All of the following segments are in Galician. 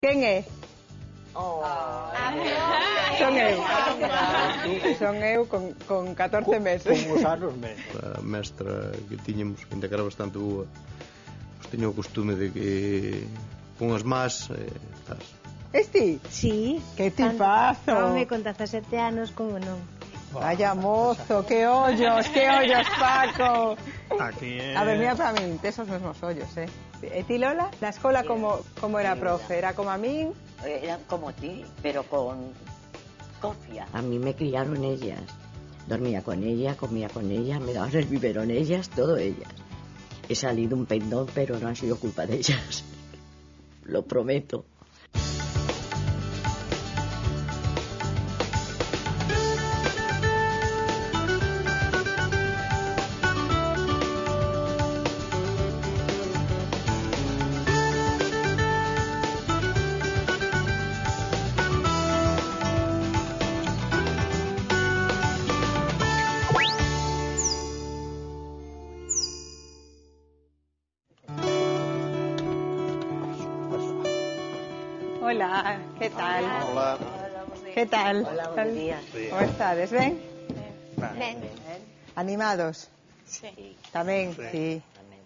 Quen é? Son eu con 14 meses. Con os anos menos. A mestra que tiñamos, ainda que era bastante boa, pues tiña o costume de que con as más estás. Esti? Sí. Que tipazo. Home, con 17 anos, como non. Vaya mozo, que ollos, Paco. Aquí é... A ver, mira para min, tes os mesmos ollos, E ti, Lola? Na escola como era a profe? Era como a min? Era como ti, pero con cofia. A mí me criaron ellas. Dormía con ella, comía con ellas, me daban el biberón ellas, todo ellas. He salido un pendón, pero no ha sido culpa de ellas. Lo prometo. Hola, que tal? Hola. Que tal? Hola, buenos días. Como estades, ben? Ben. Animados? Sí. Tamén, sí.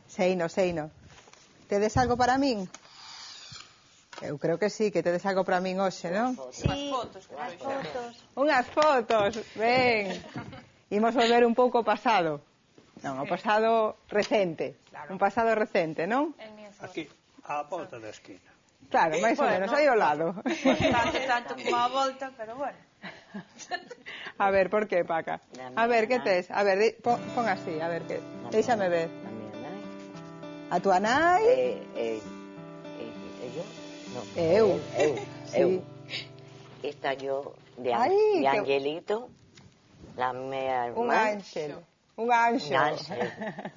Tamén. Seino. Tedes algo para min? Eu creo que sí, que tedes algo para min hoxe, non? Sí, as fotos. Unhas fotos, ben. Imos volver un pouco ao pasado. Non, ao pasado recente. Un pasado recente, non? Aquí, á volta da esquina. Claro, máis ou menos, aí ao lado. Tanto como a volta, pero bueno. A ver, por que, Paca? A ver, que tes? A ver, pon así, a ver, que déixame ver. A miña nai. A tua nai? Eu? No. Eu. Eu. Sí. Esta yo de Ai, que- Angelito, la mea Un hermana. ángel. Un anxo. Un ángel.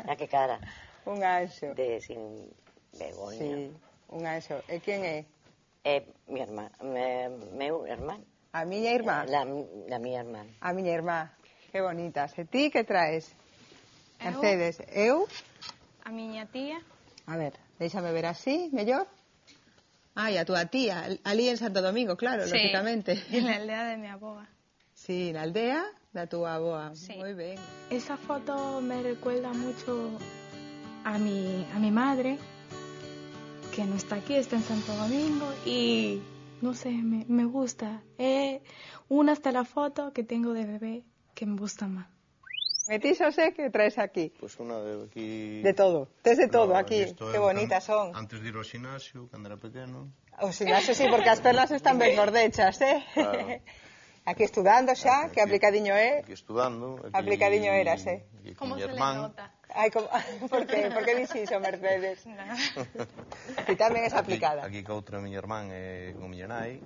Mira que cara. Un anxo. De sin vergoña. Sí, un anxo. E quen é? Mi hermana. Meu hermano. A miña irmá. La miña hermana. A miña irmá. Que bonitas. E ti que traes? Mercedes. Eu? A miña tía. A ver, déixame ver así, mellor. Ai, a túa tía, ali en Santo Domingo, claro, Sí. lógicamente. En la aldea de mi aboga. Sí, na aldea da túa aboa. Sí. Moi ben. Esa foto me recuerda mucho a mi madre, que no está aquí, está en Santo Domingo, y no sé, me gusta. Una hasta la foto que tengo de bebé que me gusta más. E ti xo sé que traes aquí. Pois unha de aquí... De todo. Tes de todo aquí. isto Que eu bonitas son. Antes de ir ao xinasio, cando era pequeno. O xinasio sí, porque as pernas están ben gordechas, Claro. Aquí estudando xa, que aplicadiño é. Aquí estudando. Aquí, Aplicadiño eras, aquí con ¿Cómo mi se le hermano. nota? Ai, como... por que? Por que dixi iso, Mercedes? Ti tamén es aplicada. Aquí ca outra miña irmán e con miña nai.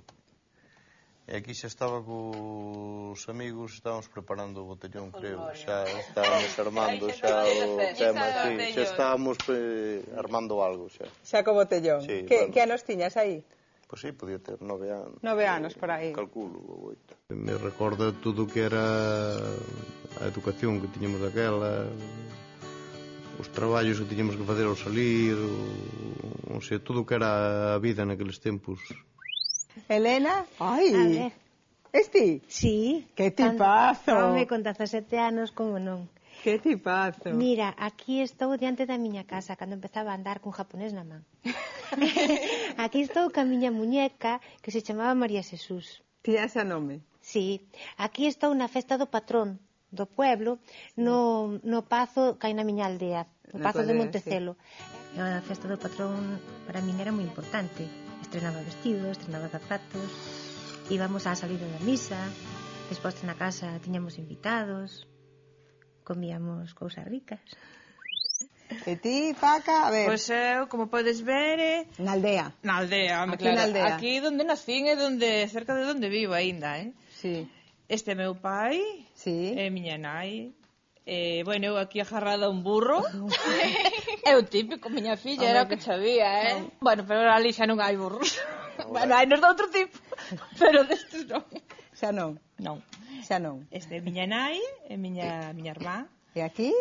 E aquí xa estaba cos amigos, estábamos preparando o botellón, creo. Xa estábamos armando xa o tema, sí, xa estábamos armando algo xa. Xa co botellón. Sí, Que, bueno. que anos tiñas aí? Pois sí, podía ter 9 anos. 9 anos por aí. Calculo, ou 8. Me recorda tudo o que era a educación que tiñamos daquela, os traballos que tiñamos que facer ao salir, o sea, tudo o que era a vida naqueles tempos. Elena? Ai. A ver. Esti? Sí. Que tipazo. Home, con 17 anos, como non. Que tipazo. Mira, aquí estou diante da miña casa, cando empezaba a andar cun japonés na man. Aquí estou ca miña muñeca, que se chamaba María Jesús. Tía ese nome. Sí, aquí estou na festa do patrón do pueblo, no pazo que hai na miña aldea, o Na pazo tua de aldea, Montecelo. Sí. A festa do patrón para min era moi importante. Estrenaba vestidos, estrenaba zapatos, íbamos á salida da misa, despois na casa tiñamos invitados, comíamos cousas ricas. E ti, Paca, a ver, Pois eu, como podes ver, na aldea. na aldea, home, Aquí claro. na aldea. Aquí donde nacín e donde cerca de donde vivo aínda, Sí. Este é meu pai, Sí. e miña nai. Bueno, eu aquí agarrada a un burro. É o típico, miña filla, era o que sabía, Bueno, pero ali xa non hai burros. Bueno, hai nos de outro tipo, pero destes non. Xa non, Non. xa non. Este é miña nai e miña irmá. E aquí?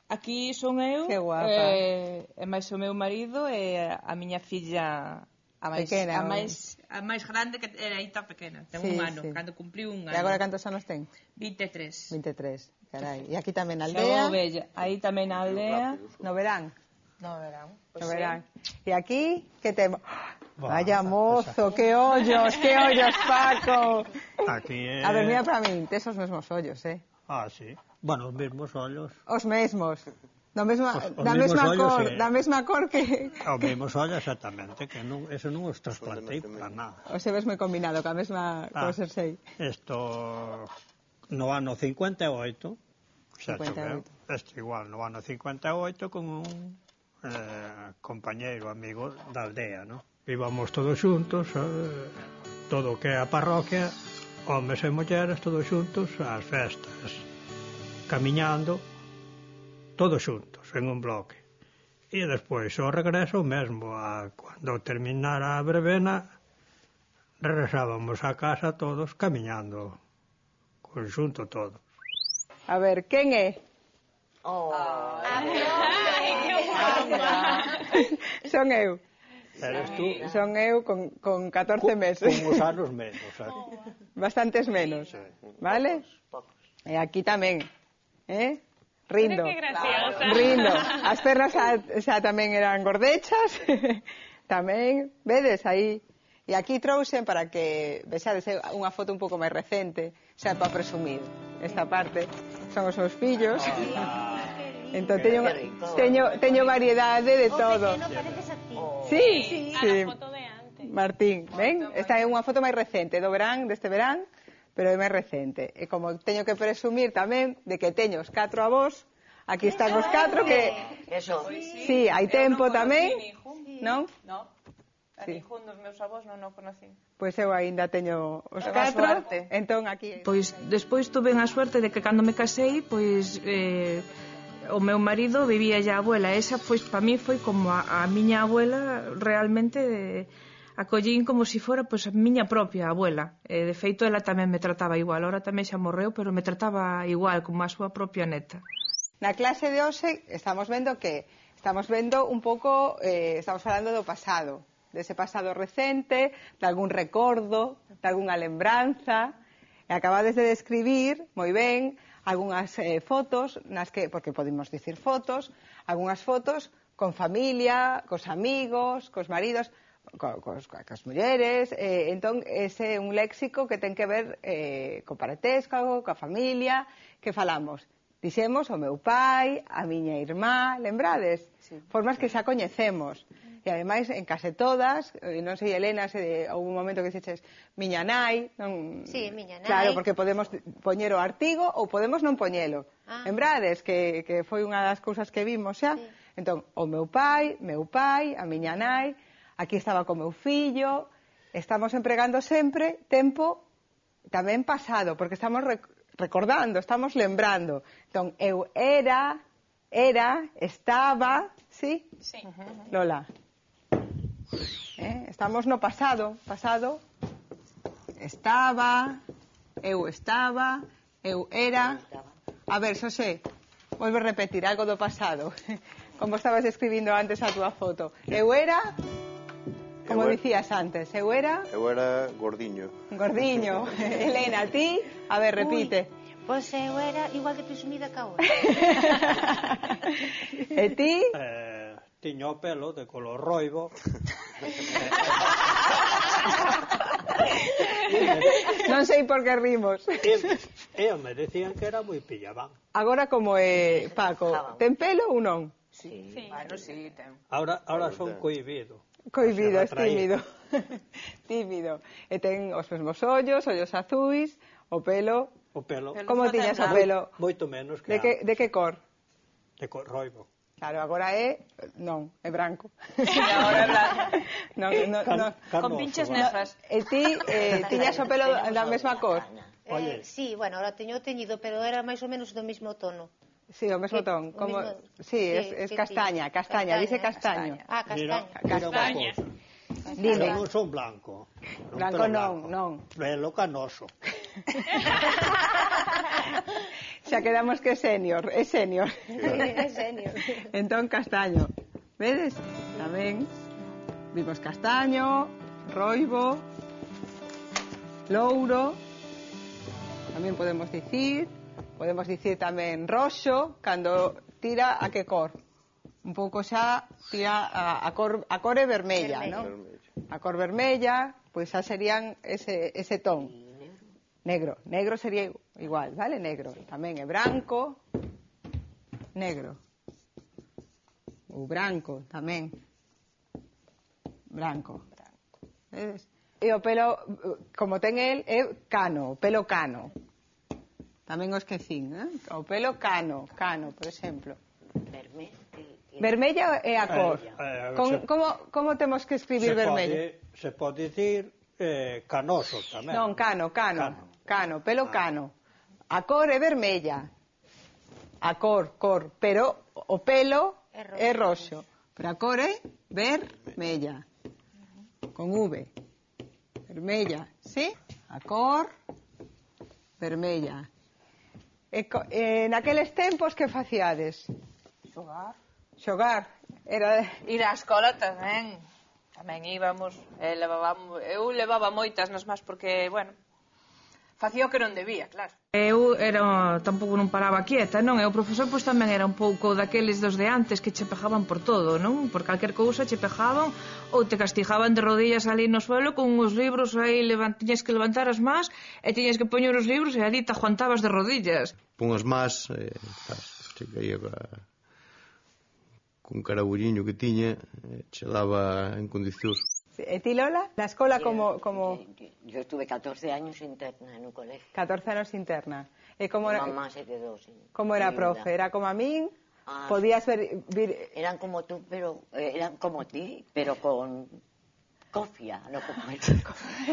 Aquí son eu, Que guapa. e máis o meu marido e a miña filla Pequena, a máis grande que era aí tan pequena. Ten Sí, un ano, sí. cando cumpliu un ano. E agora cantos anos ten? 23. 23, carai. E aquí tamén na Xa aldea, o bella. Aí tamén na aldea. no verán. No verán. No verán. E aquí, que temos? Bah, Vaya mozo, que ollos, Paco. Aquí é... A ver, mira para min, tes os mesmos ollos, Ah, sí. Bueno, os mesmos ollos. Os mesmos. Da mesma, Os da mesmos mesma ollos, cor, sí. da mesma cor que... Os mesmos ollos, exactamente, que non, eso non os trasplantei para nada. O se ves moi combinado ca mesma Ah. co xersei. Isto no ano 58, xa 58. choveu. Isto igual, no ano 58 con un compañeiro, amigo da aldea, ¿no? Íbamos todos xuntos, todo o que é a parroquia, homes e mulleres, todos xuntos ás festas, camiñando, todos xuntos, en un bloque. E despois, o regreso mesmo, cando terminara a verbena, regresábamos a casa todos camiñando, conxunto todo. A ver, quen é? Son eu. Eres tú Son eu con 14 meses. con os anos menos, Bastantes menos. Sí. Vale? E aquí tamén. Rindo. Mira que graciosa. Rindo. As pernas xa tamén eran gordechas. Tamén, vedes aí. E aquí trouxen para que vexades unha foto un pouco máis recente, xa para presumir. Esta parte son os meus fillos. Entón teño variedade de todo. Sí, sí. Martín, ven? Esta é unha foto máis recente do verán, deste verán, pero é máis recente. E como teño que presumir tamén de que teño os 4 avós, aquí están os 4 que... Eso. Sí, hai tempo tamén, non? No. A Sí. ningún dos meus avós non o conocí. Pois eu aínda teño os Ten 4, a suerte. entón aquí... Pois despois tuve a suerte de que cando me casei, pois o meu marido vivía a abuela. Esa, pois, para mí foi como a miña abuela, realmente acollín como se fora pois a miña propia abuela. De feito, ela tamén me trataba igual. Ahora tamén xa morreu, pero me trataba igual, como a súa propia neta. Na clase de hoxe estamos vendo un pouco, estamos falando do pasado, dese pasado recente, de algún recordo, de algunha lembranza, e acabades de describir moi ben algunhas fotos, nas que, porque podemos dicir fotos, algunhas fotos con familia, cos amigos, cos maridos, cos mulleres, entón ese é un léxico que ten que ver co parentesco, coa familia, que falamos. Dixemos o meu pai, a miña irmá, lembrades? Sí. Formas que xa coñecemos. E ademais, en case todas, non sei, Elena, se houve un momento que dixeches miña nai, non... Sí, miña nai. Claro, porque podemos poñer o artigo ou podemos non poñelo. Lembrades que foi unha das cousas que vimos xa? Sí. Entón, o meu pai, a miña nai, aquí estaba co meu fillo, estamos empregando sempre tempo tamén pasado, porque estamos recordando, estamos lembrando. Entón, eu era, estaba, sí? Sí. Lola. Estamos no pasado, estaba, eu era. A ver, Xosé, volve a repetir algo do pasado. Como estabas escribindo antes a túa foto. Eu era, como dicías antes, eu era gordiño. Gordiño. Elena, a ti? A ver, repite. Pois eu era igual de presumida que ahora. E ti? Tiño o pelo de color roibo. Non sei por que rimos. E me decían que era moi pillabán. Agora como é Paco, ten pelo ou non? Sí. Bueno, sí, ten. Ahora son cohibido. Cohibido, es tímido. Tímido. E ten os mesmos ollos azuis, o pelo... O pelo. Como tiñas o pelo? Moito menos que de que cor? De cor roibo. Claro, agora non, é branco. Agora é branco. Non. Con pinches negras. E ti tiñas o pelo da mesma cor? Sí, bueno, ahora teño teñido, pero era máis ou menos do mesmo tono. Sí, o mesmo ton. Como... Sí, es castaña, dice castaño. Castaña. Dime. Pero non son blanco. Blanco non. Pelo canoso. Xa quedamos que é senior. É senior. Entón castaño. Vedes? Tamén. Vimos castaño, roibo, louro, tamén podemos dicir tamén roxo, cando tira a que cor? Un pouco xa tira a cor é vermella, non? A cor vermella, pois xa serían ese ton. Negro sería igual, vale? Negro, tamén é branco, negro. Ou branco, tamén. Branco. Vedes? E o pelo, como ten el, é cano, o pelo cano. Tamén o esquecín, o pelo cano, por exemplo. Vermella é a cor. Como temos que escribir vermella? Se pode dicir canoso tamén. Non, cano, pelo cano. A cor é vermella. A cor, pero o pelo é roxo. Pero a cor é vermella. Con V. Vermella, sí? A cor vermella. Naqueles tempos que facíades? Xogar. Era ir á escola tamén. Tamén íbamos, eu levaba moitas nas más porque, bueno, facía o que non debía, claro. Eu tampouco non paraba quieta, non? E o profesor pois tamén era un pouco daqueles dos de antes que che pejaban por todo, non? Por calquer cousa che pejaban ou te castigaban de rodillas ali no suelo con uns libros aí, tiñas que levantar as más e tiñas que poñer os libros e ali te aguantabas de rodillas. Pon as más, che caía cun carabulliño que tiña, che daba en condicións. E ti, Lola? Na escola como... Yo estuve 14 años interna en un colegio. 14 anos interna. E como era... Mamá se quedó sin... Como era profe? Era como a min? Podías vir... Eran como tú, pero... Eran como ti, pero con... cofia, no como el...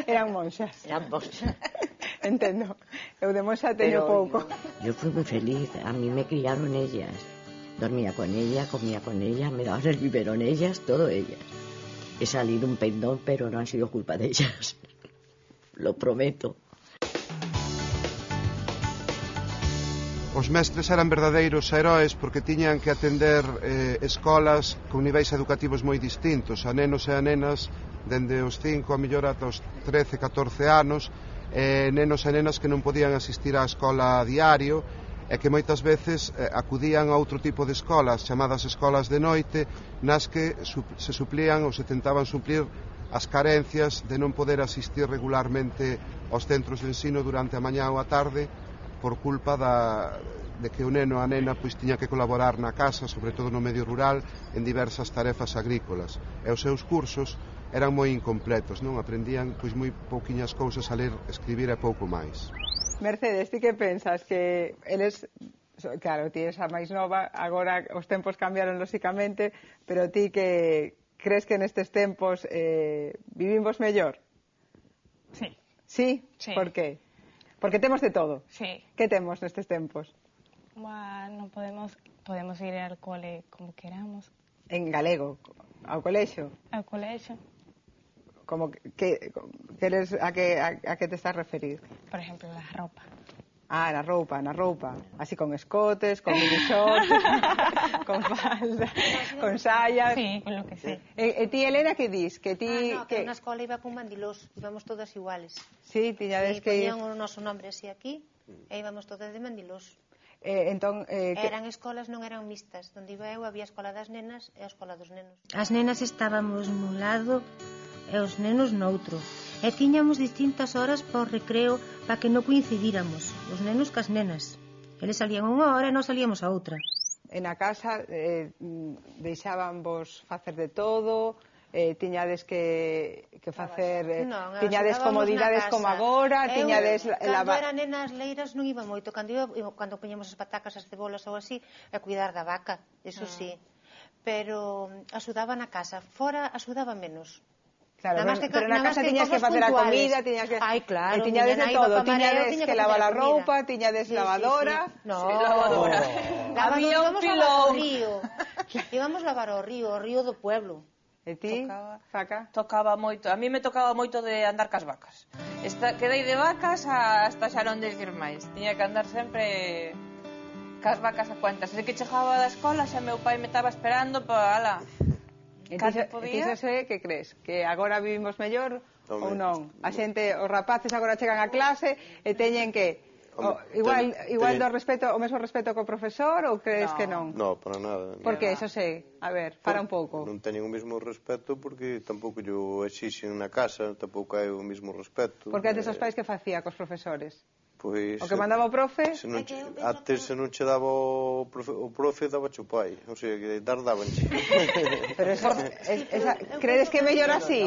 Eran monxas. Eran monxas. Entendo. Eu de monxa teño pouco. Yo fui muy feliz. A mí me criaron ellas. Dormía con ella, comía con ella, me daban el biberón ellas, todo ellas. He salido un pendón, pero no ha sido culpa de ellas. Lo prometo. Os mestres eran verdadeiros heróis porque tiñan que atender escolas con niveis educativos moi distintos, a nenos e a nenas dende os 5 a mellor ata os 13, 14 anos, nenos e nenas que non podían asistir á escola a diario e que moitas veces acudían a outro tipo de escolas, chamadas escolas de noite, nas que se suplían ou se tentaban suplir as carencias de non poder asistir regularmente aos centros de ensino durante a mañá ou a tarde por culpa de que o neno a nena pois tiña que colaborar na casa, sobre todo no medio rural, en diversas tarefas agrícolas. E os seus cursos eran moi incompletos, non? Aprendían pois moi pouquiñas cousas a ler, escribir e pouco máis. Mercedes, ti que pensas? Que eles, claro, ti és a máis nova, agora os tempos cambiaron lóxicamente, pero ti que crees que nestes tempos vivimos mellor? Sí. Sí? Por qué? Porque temos de todo. Sí. Que temos nestes tempos? Bueno, podemos ir al cole como queramos. En galego, ao colexio? Ao colexio. Como que a que te estás a referir? Por ejemplo, la ropa. Na roupa. Así con escotes, con minishorts, con falda, con sayas. Sí, con lo que sea. E ti, Elena, que dis? Que ti... que na escola iba con mandilós, íbamos todas iguales. Sí, tiñades que ir... Poñían o noso nombre así aquí, e íbamos todas de mandilós. Entón, eran escolas, non eran mixtas. Donde iba eu había a escola das nenas e a escola dos nenos. As nenas estábamos nun lado e os nenos noutro. E tiñamos distintas horas por recreo para que non coincidíramos, os nenos cas nenas. Eles salían unha hora e nós salíamos a outra. En a casa deixaban vos facer de todo, tiñades que facer, tiñades comodidades como agora, tiñades... Cando eran nenas leiras non iba moito, cando poñemos as patacas, as cebolas ou así, a cuidar da vaca, eso sí. Pero axudaba na casa, fora axudaba menos. Claro, pero na casa tiñas que facer a comida, tiñas que... Ai, claro, tiñades de todo, tiñades que lavar a roupa, tiñades lavadora... No, lavadora. Había un pilón. Íbamos lavar ao río do pueblo. E ti, Faca? Tocaba moito, a mí me tocaba moito de andar cas vacas. Quedei de vacas hasta xa non decir máis. Tiña que andar sempre cas vacas a cuentas. Desde que chegaba da escola xa meu pai me estaba esperando para... Entón, que crees? Que agora vivimos mellor ou non? A xente, os rapaces agora chegan a clase e teñen que igual do respeto, o mesmo respeto co profesor ou crees que non? No, para nada. Porque eso sei, a ver, para un pouco. Non teñen o mesmo respeto porque tampouco yo exixen na casa, tampouco hai o mesmo respeto. Porque antes os pais que facía cos profesores? Pois, o que mandaba o profe? Antes se non che daba o profe, daba o pai. O sea, que dabanche. Pero eso, credes que é mellor así?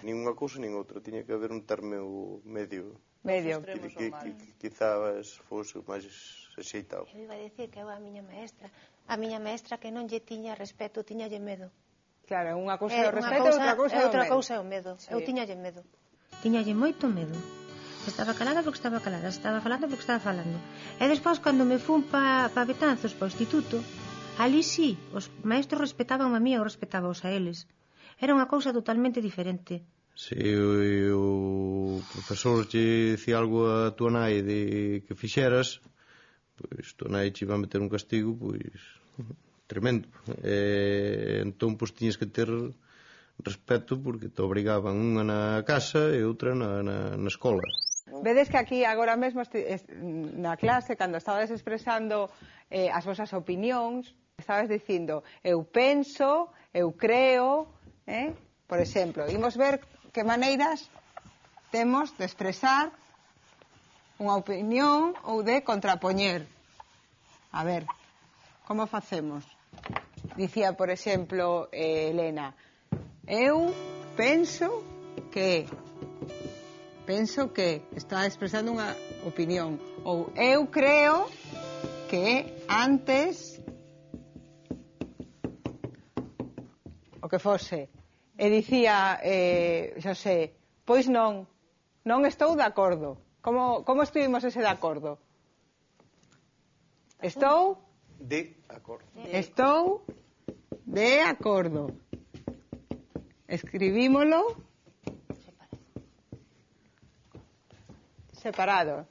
Nin unha cousa nin outra. Tiña que haber un término medio. Que quizás fose máis axeitado. Eu iba a dicir que eu a miña maestra que non lle tiña respeto, tiñalle medo. Claro, unha cousa é o respeto e outra cousa é o medo. Eu tiñalle medo. Tiñalle moito medo. Estaba calada porque estaba calada, estaba falando porque estaba falando. E despois, cando me fun pa Betanzos, pa o instituto, ali sí, os maestros respetaban a mí e eu respetábaos a eles. Era unha cousa totalmente diferente. Se o profesor che dicía algo a tua nai de que fixeras, pois tua nai che iba a meter un castigo, pois tremendo. Entón, pois tiñes que ter respeto porque te obrigaban unha na casa e outra na escola. Vedes que aquí agora mesmo na clase, cando estabas expresando as vosas opinións, estabas dicindo eu penso, eu creo, por exemplo, imos ver que maneiras temos de expresar unha opinión ou de contrapoñer. A ver, como facemos? Dicía, por exemplo, Elena, eu penso que está expresando unha opinión, ou eu creo que antes o que fose, e dicía Xosé, pois non estou de acordo. Como escribimos ese de acordo? Estou de acordo. Estou de acordo. Escribímolo separado.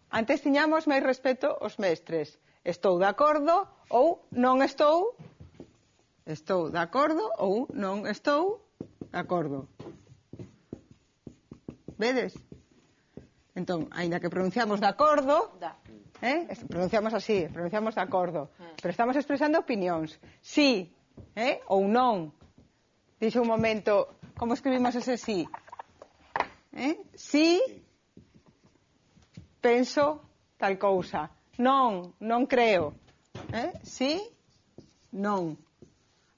Antes tiñamos máis respeto aos mestres. Estou de acordo ou non estou. Estou de acordo ou non estou de acordo. Vedes? Entón, aínda que pronunciamos de acordo, pronunciamos así, pronunciamos de acordo, pero estamos expresando opinións. Sí, ou non. Dixe un momento, como escribimos ese sí? Sí, penso tal cousa. Non creo. Sí, non.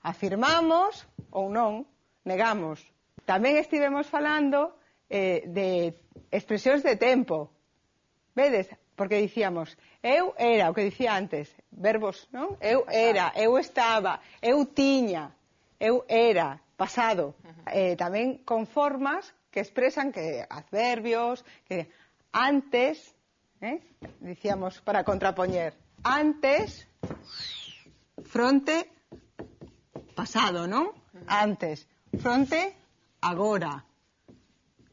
Afirmamos ou non, negamos. Tamén estivemos falando de expresións de tempo. Vedes? Porque dicíamos, eu era, o que dicía antes, verbos, non? Eu era, eu estaba, eu tiña, eu era, pasado. Tamén con formas que expresan que adverbios, que antes, dicíamos para contrapoñer, antes, fronte, pasado, non? Antes, fronte, agora.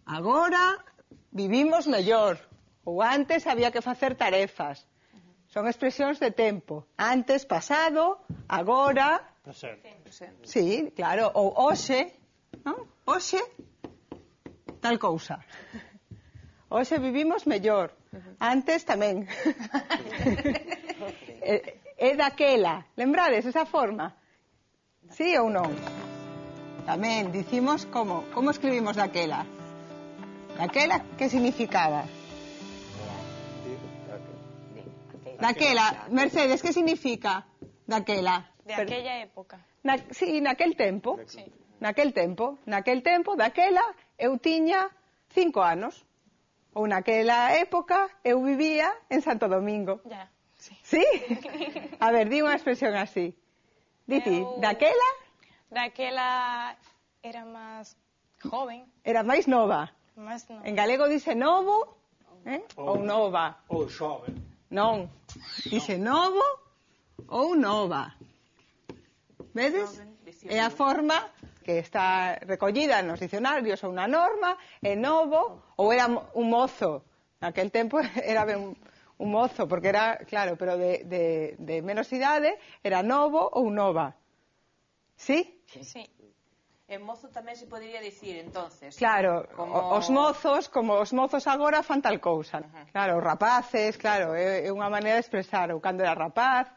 Agora vivimos mellor. Ou antes había que facer tarefas. Son expresións de tempo. Antes, pasado, agora. Presente. Sí, claro. Ou hoxe, non? Hoxe, tal cousa. Hoxe vivimos mellor. Antes tamén. É daquela. Lembrades esa forma? Sí ou non? Tamén dicimos como escribimos daquela. Daquela, que significaba? Daquela, Mercedes, que significa daquela? De aquella época. Sí, naquel tempo. Sí. Naquel tempo, daquela, eu tiña 5 anos. Ou naquela época, eu vivía en Santo Domingo. Ya, sí. Sí? A ver, di unha expresión así. Diti, daquela? Daquela era máis joven. Era máis nova. Máis nova. En galego dice novo, ou nova. Ou xove. Non, dice novo ou nova. Vedes? É a forma que está recollida nos dicionarios ou na norma, é novo ou era un mozo. Naquel tempo era ben un mozo, porque era, claro, pero de menos idade, era novo ou nova. Sí? Sí. En mozo tamén se podería dicir, entonces. Claro, como... os mozos agora fan tal cousa. Claro, os rapaces, claro, é unha maneira de expresar o cando era rapaz.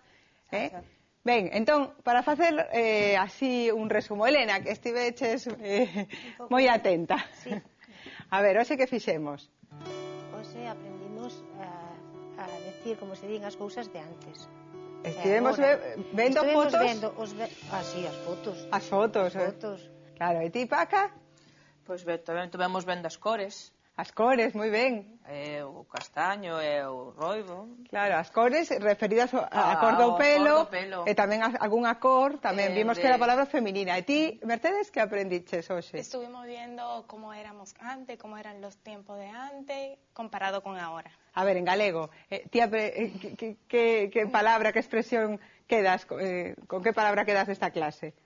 Ben, entón, para facer así un resumo, Elena, que estiveches moi atenta. Sí. A ver, hoxe que fixemos? Hoxe aprendimos a decir, como se din, as cousas de antes. Estivemos vendo fotos. Sí, as fotos. As fotos. Claro, e ti, Paca? Pois tamén tivemos vendo as cores. As cores, moi ben. O castaño e o roibo. Claro, as cores referidas a cor do pelo, e tamén algunha cor, tamén vimos que era palabra feminina. E ti, Mercedes, que aprendiches hoxe? Estuvimos viendo cómo éramos antes, cómo eran los tiempos de antes, comparado con ahora. A ver, en galego, que palabra, que expresión quedas, con que palabra quedas desta clase?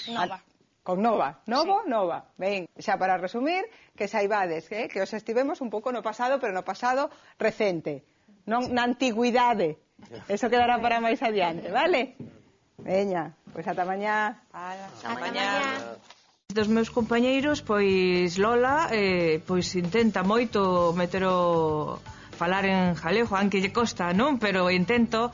Nova. Con nova, novo, sí. Nova. Ben, xa para resumir, que saibades que os estivemos un pouco no pasado, pero no pasado recente, non na antigüidade. Eso quedará para máis adiante, vale? Veña, pois ata mañá. Ata mañá. Dos meus compañeiros, pois Lola, pois intenta moito falar en galego, aunque lle costa, non? Pero intento.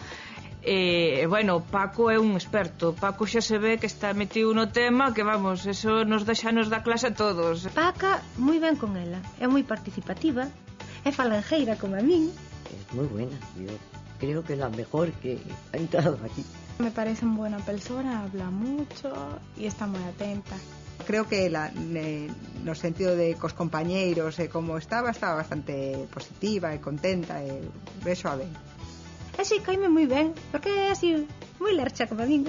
Bueno, Paco é un experto. Paco xa se ve que está metido no tema, que vamos, eso nos da clase a todos. Paca, moi ben con ela, é moi participativa, é falangeira como a min. Es moi buena, yo creo que é la mejor que ha entrado aquí. Me parece una buena persona, habla mucho y está moi atenta. Creo que no sentido de cos compañeiros e como estaba bastante positiva e contenta e beso a ben. E si, caime moi ben, porque é así moi lercha como a min.